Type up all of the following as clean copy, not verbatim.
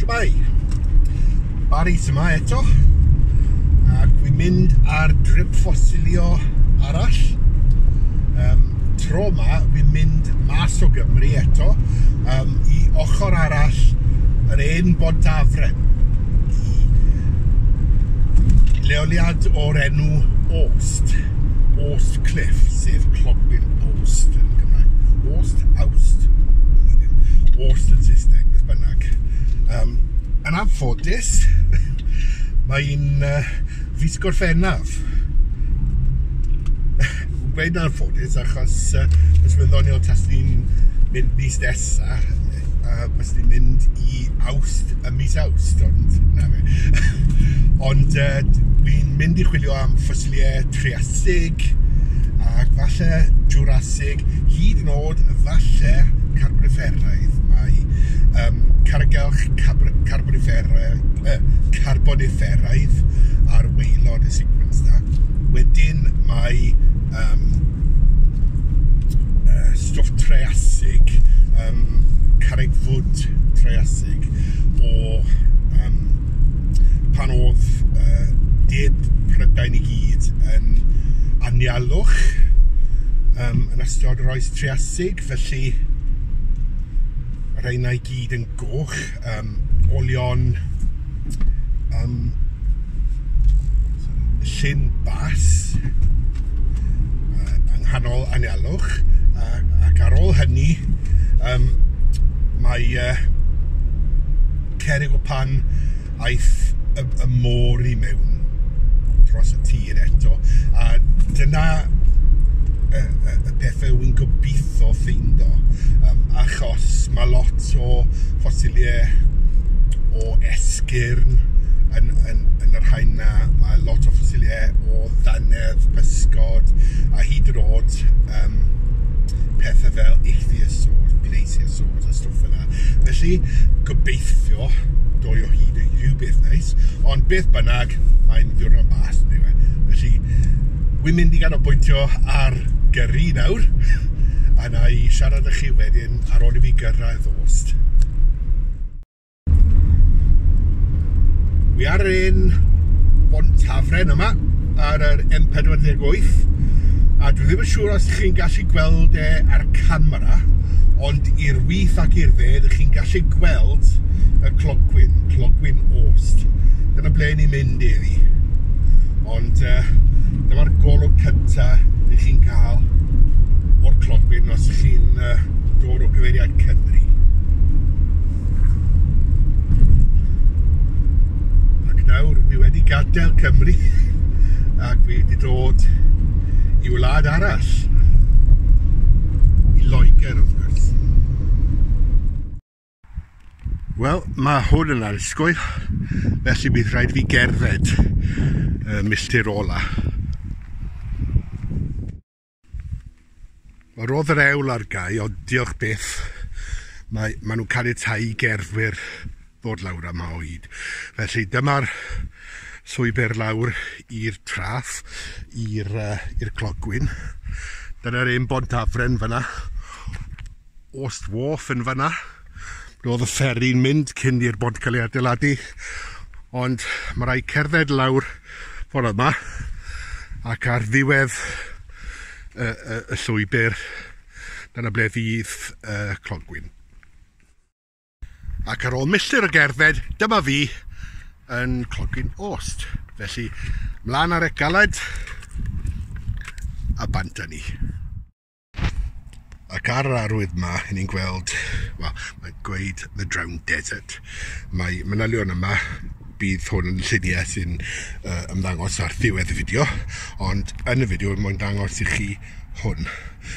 Shwmae? Barry sy 'ma eto, ac wi'n mynd ar drip ffosilio arall. Tro 'ma wi'n mynd mas o Gymru eto, i ochr arall yr hen Bont Hafren, i leoliad o'r enw Awst, Awst Cliff, sef Clogwyn Awst yn Gymraeg. Awst? Awst? Awst yn Saesneg, beth bynnag. Yn anffodus, mae'n fis Gorffennaf. Gweud yn anffodus achos os mae'n ddoniol tas ni'n mynd mis nesa, bys ni'n mynd i Awst, y mis Awst, ond na fe. Ond wi'n mynd i chwilio am ffosiliau Triasig ac falle Jurassic, hyd yn oed falle Carboniferaidd. Mae cargelch Carboniferaidd ar waelod y sequence na. Wedyn mae stwff Triasig, carreg fwd Triasig o pan oedd de Prydain i gyd yn anialwch yn ystod yr oes Triasig, felly rheina i gyd yn goch, olion llyn bas yng nghanol anialwch, ac ar ôl hynny mae cerrig o pan aeth y môr i mewn dros y tir eto, a dyna y pethau wy'n gobeithio ffeindo, achos mae lot o ffosiliau o esgyrn yn y rhain na, mae lot o ffosiliau o ddannedd, pysgod, a hyd yn oed pethau fel ichthyosaurs, plesiosaurs a stwff fel 'na. Felly, gobeithio doi o hyd i rhywbeth neis, ond beth bynnag, mae'n ddiwrnod bas, yndyw e. Felly, wi'n mynd i ganolbwyntio ar gyrru nawr, a na i siarad â chi wedyn ar ôl i fi gyrraedd Awst. Wi ar yr un Bont Hafren yma, ar yr M48, a dwi ddim yn siŵr os chi'n gallu gweld e ar camera, ond i'r wyth ac i'r dde, ydych chi'n gallu gweld y clogwyn, Clogwyn Awst. Dyna ble ni'n mynd iddi. Ond dyma'r golwg cynta ydych chi'n cael o'r clogwyn os chi'n dod o gyfeiriad Cymru. Ac nawr fi wedi gadael Cymru ac fi wedi dod i wlad arall, i Loegr wrth gwrs. Wel, mae hwn yn anhygoel, felly bydd rhaid fi gerdded y milltir ola. Wel, roedd yr ewl ar gau, ond diolch byth, mae nhw'n caniatáu i gerddwyr ddod lawr yma o hyd. Felly dyma'r llwybr lawr i'r traff, i'r clogwyn. Dyna'r un Bont Hafren fyna. Awst Wharf yn fyna. Roedd y fferi'n mynd cyn i'r bont cael ei adeiladu, ond mae rhaid cerdded lawr ffordd yma, ac ar ddiwedd y llwybr, dyna ble fydd y clogwyn. Ac ar ôl milltir o gerdded, dyma fi yn Clogwyn Awst. Felly, mlaen ar y galed, a bant â ni. Ac ar yr arwydd yma, ni'n gweld, wel, mae'n gweud The Drowned Desert. Mae manylion yma, bydd hwn yn lluniau sy'n ymddangos ar ddiwedd y fideo, ond yn y fideo, mae'n dangos i chi hwn,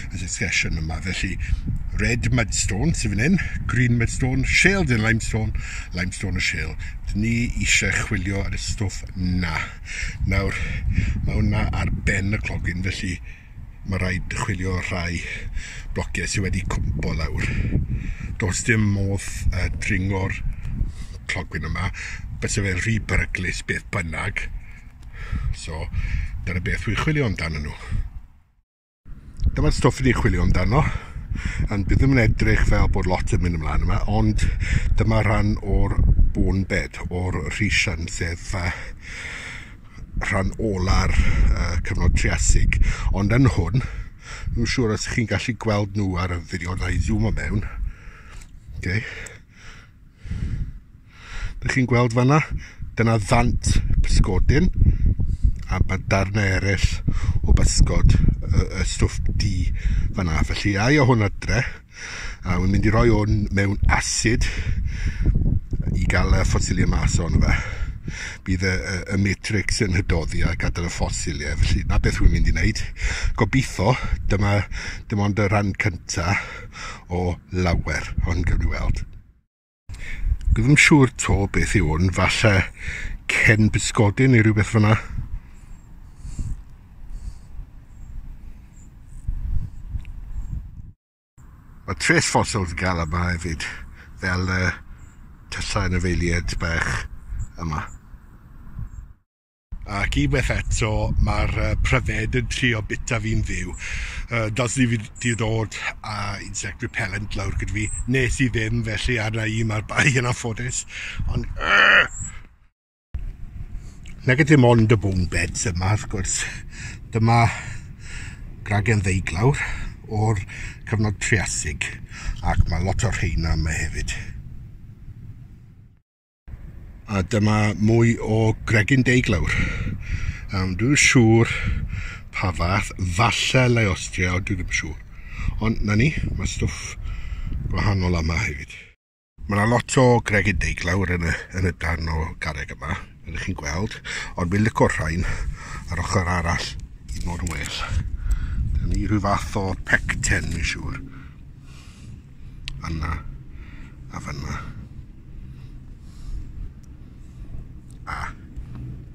y succession yma. Felly, red mudstone sydd fan hyn, green mudstone, shale and limestone, limestone a shale. Dyn ni eisiau chwilio ar y stwff na. Nawr, mae hwnna ar ben y clogwyn, felly mae rhaid chwilio rhai blociau sydd wedi cwmpo lawr. Does dim modd dringo'r clogwyn yma, byse fe'n rhy beryglus beth bynnag. So, dyna beth wy'n chwilio amdano nhw. Dyma'r stwff ni'n chwilio amdano. Yn bydd ddim yn edrych fel bod lot yn mynd ymlaen yma, ond dyma rhan o'r bone bed, o'r Rhaetian, sef rhan ola'r cyfnod Triasig. Ond yn hwn, dwi'n siŵr os chi'n gallu gweld nhw ar y fideo, na i zoom o mewn. Okay. Dych chi'n gweld fanna? Dyna ddant pysgodyn, a mae darnau eraill o bysgod, y stwff du fanna. Felly, ai o hwn adre, a wy'n mynd i roi hwn mewn acid i gael y ffosiliau mas ohono fe. Bydd y matrix yn hydoddi a gadael y ffosiliau, felly na beth wy'n mynd i wneud. Gobeithio, dyma dim ond y rhan cyntaf o lawer, ond gawn ni weld. Dwi ddim siŵr to beth yw hwn, falle cen bysgodyn neu rhywbeth fyna. Mae trace fossils yn gael yma hefyd, fel y tyllau anifeiliaid bach yma. Ac unwaith eto, mae'r pryfed yn trio bita fi'n fyw. Dylswn i wedi ddod â insect repellent lawr gyda fi. Nes i ddim, felly arna i mae'r bai yn anffodus. Ond... Nag dim ond y bone beds yma, wrth gwrs. Dyma gragen ddeuglawr o'r cyfnod Triasig, ac mae lot o'r rheina yma hefyd. A dyma mwy o gregyn deuglawr. Dwi'n siŵr pa fath, falle Liostrea, ond dwi ddim yn siŵr. Ond na ni, mae stwff gwahanol yma hefyd. Mae yna lot o gregyn deuglawr yn y darn o garreg yma, ydych chi'n gweld, ond wy'n lico'r rhain ar ochr arall i fod yn well. Dyna ni rhyw fath o pecten, mi'n siŵr. Yna, a fyna. A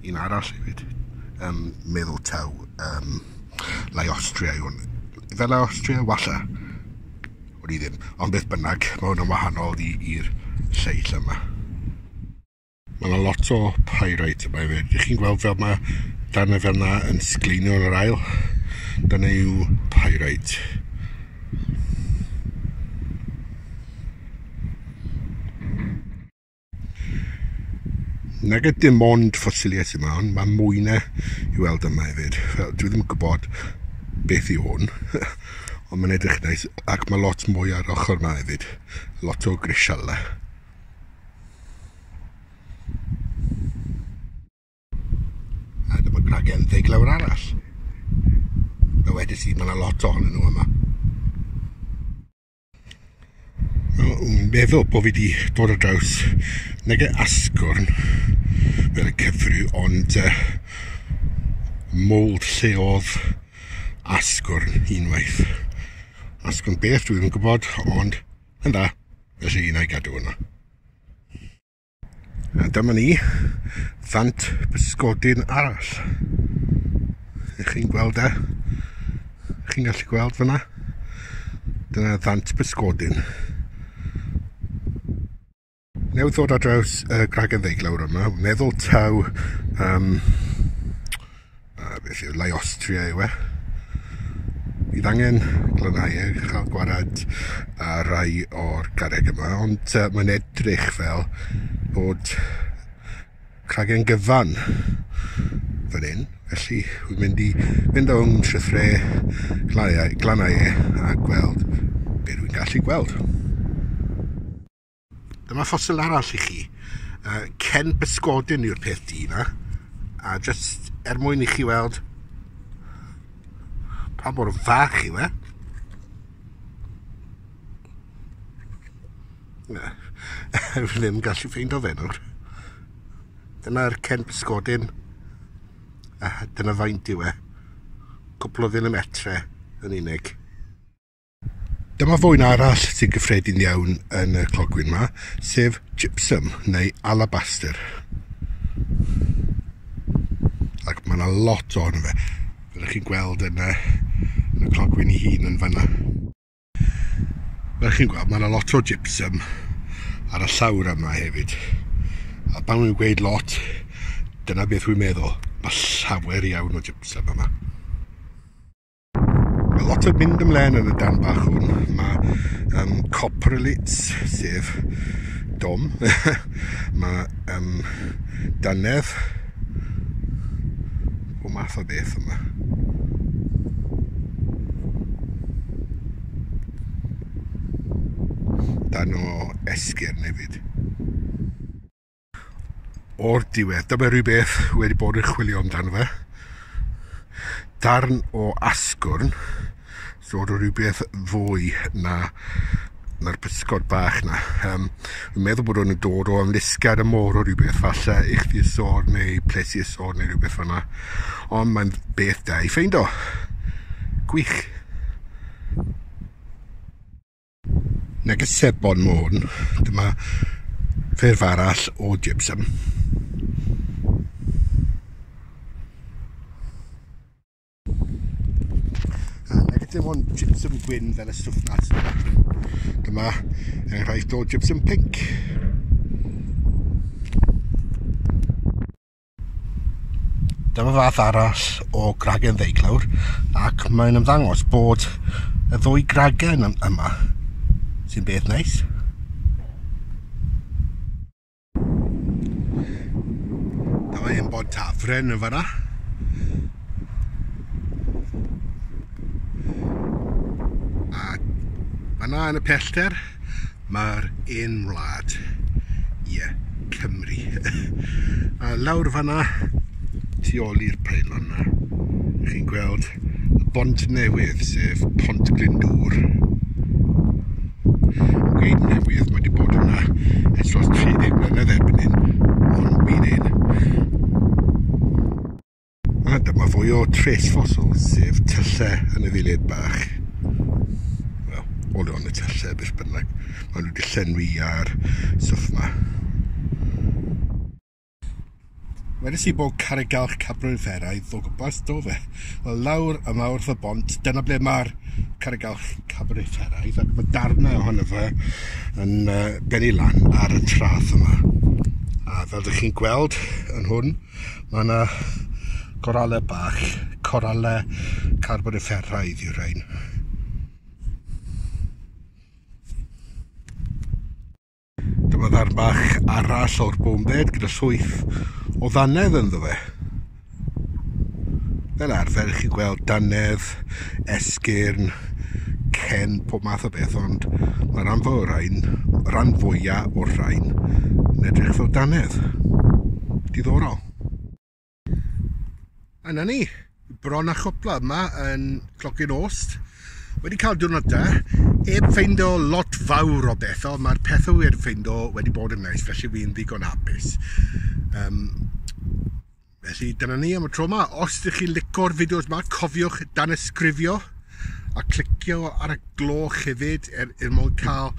un arall hefyd. Meddwl taw Liostrea yw hwn. Fel Liostrea, walla. O'n i ddim. Ond beth bynnag, mae hwn yn wahanol i'r lleill yma. Mae yna lot o pyrite yma hefyd. Ydych chi'n gweld fel mae darnau fel yna yn sgleinio yn yr ail? Dyna yw pyrite. Nag dim ond ffosiliau sydd yma, ond mae mwy na i weld yma hefyd. Fel, dwi ddim yn gwybod beth yw hwn, ond mae'n edrych neis, ac mae lot mwy ar ochr yma hefyd. Lot o grisialau. A dyma gragen ddeuglawr arall. Fel wedes i, mae yna lot ohonyn nhw yma. Dwi'n meddwl bod fi wedi dod ar draws nage asgwrn fel y cyfryw, ond mould lle oedd asgwrn unwaith. Asgwrn beth dwi ddim yn gwybod, ond yn dda, felly un o'i gadw yna. A dyma ni, ddant bysgodyn arall. Ych chi'n gweld e? Ych chi'n gallu gweld fyna? Dyna ddant bysgodyn. Newydd ddod ar draws y gragen ddeuglawr yma, meddwl taw beth yw, Liostrea yw e. Bydd angen glanhau e, chael gwared ar rai o'r garreg yma, ond mae'n edrych fel bod cragen gyfan fan hyn. Felly, wy'n mynd i fynd o'n trythre, glanhau e a gweld beth dwi'n gallu gweld. Dyma ffosil arall i chi. Cen bysgodyn yw'r peth du yna. A jyst er mwyn i chi weld pa mor fach yw e. Na, fi ddim yn gallu ffeindo fe nawr. Dyna'r cen bysgodyn. A dyna faint yw e. Cwpl o filimetre yn unig. Dyma fwyn arall sy'n gyffredin iawn yn y clogwyn yma, sef gypsum neu alabaster. Ac mae yna lot ohono fe. Fel ydych chi'n gweld yn y clogwyn ei hun yn fanna. Fel ydych chi'n gweld, mae yna lot o gypsum ar y llawr yma hefyd. A pan wy'n gweud lot, dyna beth wy'n meddwl. Mae llawer iawn o gypsum yma. Mae lot o mynd ymlaen yn y darn bach hwn. Mae coprolites, sef dom. Mae dannedd. O math o beth yma. Dan o esgyrn hefyd. O'r diwedd, dyma rhywbeth wedi bod yn chwilio amdano fe. Darn o asgwrn, sort o rhywbeth fwy na'r pysgod bach na. Dwi'n meddwl bod nhw'n dod o ymlusgiad y môr o rhywbeth, falle ichthyosaur neu plesiosaur neu rhywbeth fan'na. Ond mae'n beth da i ffeindo. Gwych. Neges sebon Môn, dyma ffurf arall o gypsum. A nag dim ond gypsum gwyn fel y stwff na. Dyma enghraifft o gypsum pinc. Dyma fath arall o gragen ddeuglawr, ac mae'n ymddangos bod y ddwy gragen yma, sy'n beth neis. Dyma un bod tafren yn fanna. A fanna yn y pellter, mae'r un wlad, ie, Cymru. A lawr fanna, tu ôl i'r peilon yna, chi'n gweld y bont newydd, sef Pont Glyndŵr. Gweud newydd, mae wedi bod yna ers dros 30 mlynedd erbyn hyn, ond byd un. A dyma fwy o trace fossils, sef tyllau anifeiliaid bach. Wel, olion y tyllau, beth bynnag. Maen nhw wedi llenwi ar stwff yma. Wedes i bod carreg galch Carboniferaidd o gwmpas, do fe? Wel, lawr yma wrth y bont, dyna ble mae'r carreg galch Carboniferaidd, ac mae darnau ohono fe yn bennu lan ar y traeth yma. A fel ydych chi'n gweld yn hwn, mae yna goralau bach, coralau Carboniferaidd yw'r rhain. Dyma ddarn bach arall o'r bonebed gyda llwyth o ddannedd ynddo fe. Fel arfer, chi'n gweld dannedd, esgyrn, cen, pob math o beth, ond mae rhan fwy o'r rhain, rhan fwyaf o'r rhain, yn edrych fel dannedd. Diddorol. A na ni, bron a chwpla yma yn Clogyn Ost. Wedi cael diwrnod da, heb ffeindo lot fawr o bethau, ond mae'r pethau wedi ffeindo wedi bod yn neis, felly fi'n ddigon hapus. Felly dyna ni am y tro yma. Os ydych chi'n lico'r fideos yma, cofiwch danysgrifio a clicio ar y gloch hefyd er mwyn cael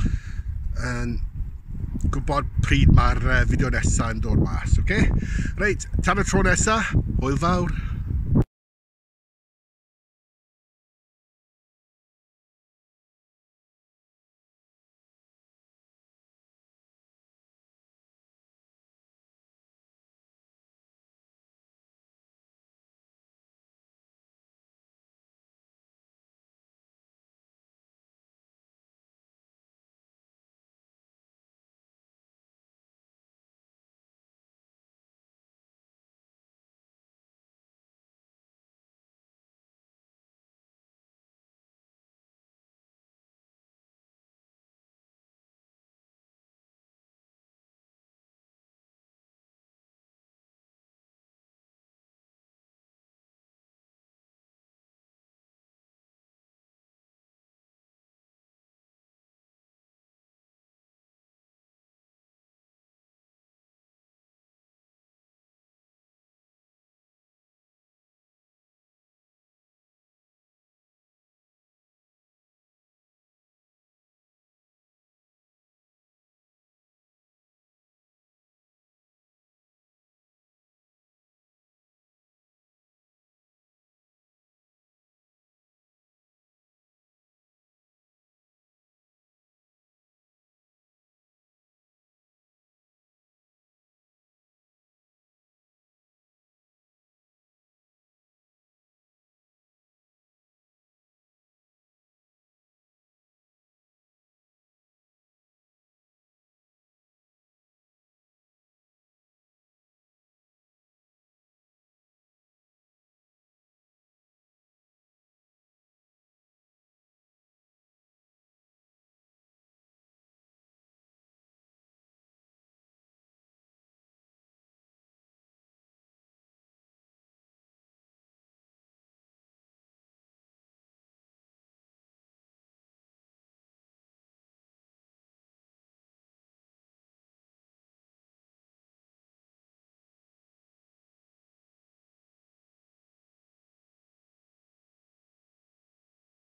gwybod pryd mae'r fideo nesaf yn dod mas, oce? Reit, tan y tro nesaf, hwyl fawr!